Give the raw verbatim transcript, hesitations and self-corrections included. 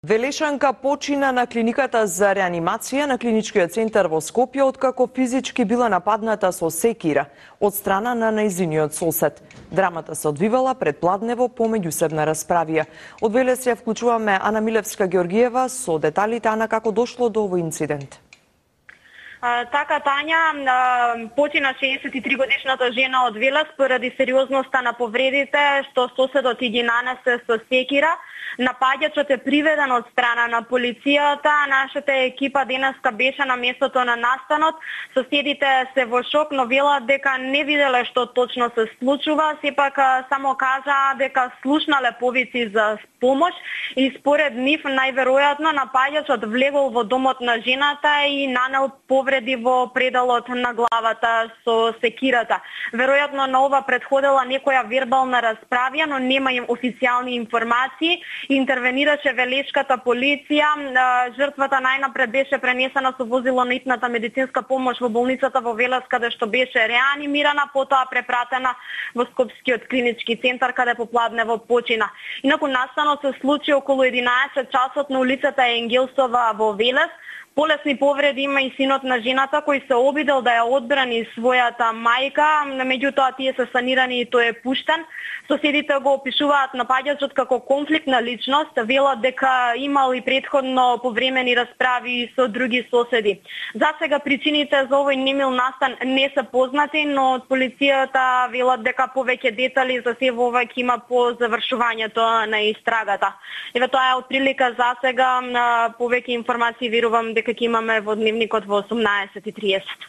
Велешанка почина на клиниката за реанимација на клиничкиот центар во Скопје откако физички била нападната со секира од страна на нејзиниот сосед. Драмата се одвивала пред Пладнево по меѓусебна расправија. Од Велес ја вклучуваме Ана Милевска-Георгиева со деталите. Ана, како дошло до овој инцидент? Така, Тања, почина шеесет и три годишната жена од Велес поради сериозноста на повредите што соседот и ги нанесе со секира. Напаѓачот е приведен од страна на полицијата. Нашата екипа денеска беше на местото на настанот. Соседите се во шок, но велат дека не виделе што точно се случува. Сепак само кажаа дека слушнале повици за помош и според нив најверојатно напаѓачот влегол во домот на жената и нанел повреди во пределот на главата со секирата. Веројатно на ова предходела некоја вербална расправија, но нема им официјални информации. Интервенираше велешката полиција. Жртвата најнапред беше пренесена со возило на итната медицинска помош во болницата во Велес, каде што беше реанимирана, потоа препратена во Скопскиот клинички центар, каде по Пладнево почина. Инаку настанот се случи околу единаесет часот на улицата Енгелсова во Велес. Полесни повреди има и синот на жената кој се обидел да ја одбрани својата мајка, меѓутоа тие се санирани и тој е пуштен. Соседите го опишуваат напаѓачот како конфликтна личност, велат дека имал и претходно повремени расправи со други соседи. За сега причините за овој немил настан не се познати, но од полицијата велат дека повеќе детали за се во ова ќе има по завршувањето на истрагата. Еве тоа е отприлика за сега, повеќе информации верувам дека ќе имаме во дневникот во осумнаесет и триесет.